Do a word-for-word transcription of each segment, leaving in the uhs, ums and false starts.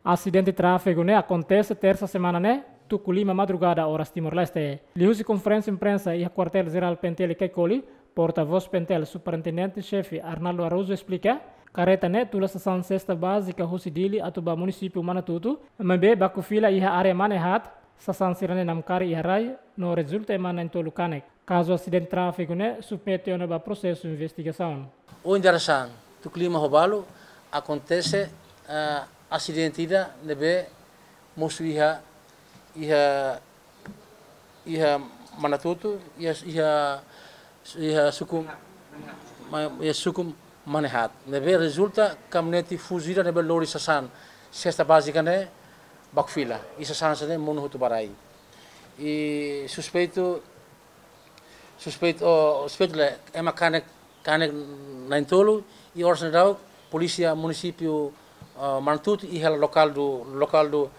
Asidente tráfegu ne'e akontese tersa semana ne'e, tuku lima madrugada oras Timor-Leste. Liuhusi konferénsia imprensa iha Kuartél Jerál P N T L Caicoli, portavós P N T L Superintendente Xefe Arnaldo Araújo esplika, kareta ne'e tula sasán sesta bázika husi Dili atu ba munisípiu Manatuto, maibé baku fila iha área Manehat, sasán sira-ne'e namkari iha rai, no rezulta ema na'in-tolu kanek. Kazu asidente tráfegu ne'e submete ona ba prosesu investigasaun. Ohin dadeer-saan, tuku lima ho balu, akontese, ah, asidente ida ne'ebé mosu iha, iha, iha Manatuto, iha, iha, iha suku, ma-, iha suku Manehat. Ne'ebé rezulta kamionete Fuso ida ne'ebé lori sasán sesta bázika ne'e baku fila. I sasán sira-ne'e monu hotu ba rai. I suspeitu, suspeitu, oh, suspeitu lae, ema kanek, kanek na'in-tolu, i oras ne'e daudaun, polísia munisípiu, ah, Manatuto, iha lokál do, lokál do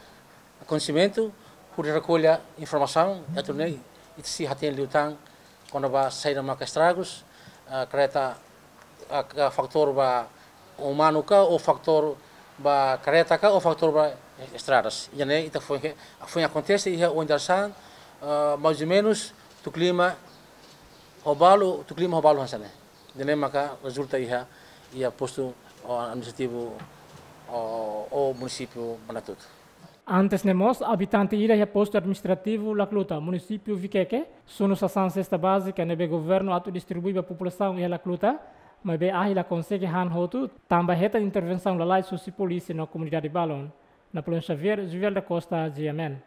akontesimentu, hodi rekolla informasaun, atu nune'e, ita sei hatene liután, kona-ba saida maka estragus, ah, kareta, ah, ka fatór ba umanu ka, ou fatór ba kareta ka, ou fatór ba estradas. Ida-ne'e ita foin, foin akontese iha ohin dadeer-saan, ah, mais ou menus, tuku lima ho balu, tuku lima ho balu hanesan ne'e. Ida-ne'e maka rezulta iha, iha postu, oh, administrativu, oh, oh, munisípiu Manatuto. Antes ne'e mós, abitante ida iha postu administrativu Lacluta, munisípiu Viqueque, sunu sasán sesta bázika ne'ebé governu atu distribui ba populasaun iha Lacluta, maibé ahi la konsege han hotu, tanba hetan intervensaun lalais husi polísia no komunidade balun. Napoleão Xavier, Juvel da Costa, G M N.